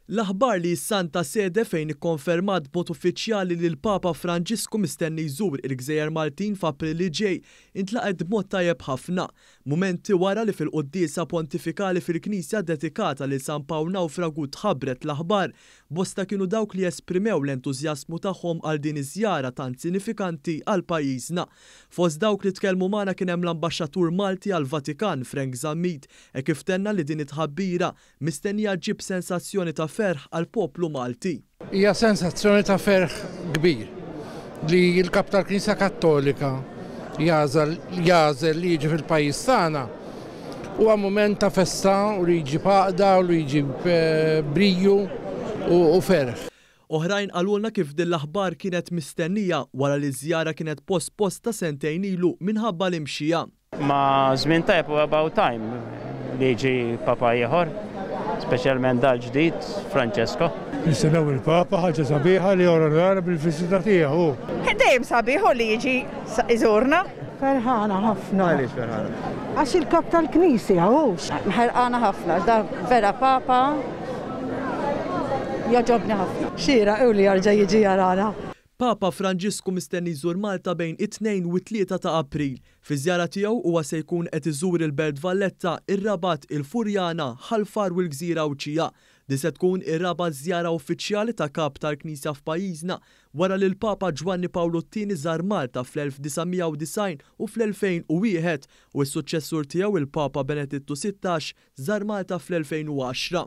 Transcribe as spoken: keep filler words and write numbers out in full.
L-aħbar li s-Santa Sede fejn ikkonfermat b'mod uffiċjali li l-Papa Franġisku mistenni jżur il-Gżejjer Maltin f'April li ġej intlaqet b'mod tajjeb ħafna. Mumenti wara li fil-quddiesa pontifikali fil-Knisja dedikata lil San Pawl Nawfragu tħabbret l-aħbar, bosta kienu dawk li esprimew l-entużjażmu tagħhom għal din iż-żjara tant sinifikanti għal pajjiżna. Fost dawk li tkellmu magħna kien hemm l-Ambaxxatur Malti għall-Vatikan Frank Zammit e kif tenna li din it-tħabbira mistennija ġġib sensazzjoni ta' ferħ għall-poplu Malti. Hija sensazzjoni ta' ferħ kbir li l-kap tal-Knisja Kattolika jagħżel jagħżel li jiġi fil-pajjiż tagħna. Huwa mument ta' festa u li jġib għaqda u li jġib eh, briju u, u ferħ. Oħrajn qalulna kif din l-aħbar kienet mistennija wara li żjara kienet posposta sentejn ilu minħabba l-imxija. Ma żmien tajb u about time li jiġi papa ieħor, speċjalment dal-ġdid, Francesco. Nistennew il-Papa, ħaġa sabiħa li jonorana bil-viżita tiegħu. Dejjem sabiħ li jiġi iżurna. Ferħana ħafna. Għaliex ferħana? Għax il-kap tal-Knisja hux. Ħerqana ħafna, da vera papa jogħġobni ħafna. Xieraq u li jerġa' jiġi jarana. Papa Franġisku mistenni jżur Malta bejn it-tnejn u t-tlieta ta' April. Fi żjara tiegħu huwa se jkun qed iżur il-Belt Valletta, ir-Rabat, il-Furjana, Ħal Far u l-Gżira Għawdxija. Din se tkun ir-raba' żjara uffiċjali ta' kap tal-Knisja f'pajjiżna wara li l-Papa Ġwanni Pawlu t-tieni żar Malta fl-elf disa' mija u disgħin u fl-elfejn u wieħed u s-suċċessur tiegħu, il-Papa Benedittu Sittax, żar Malta fl-elfejn u għaxra.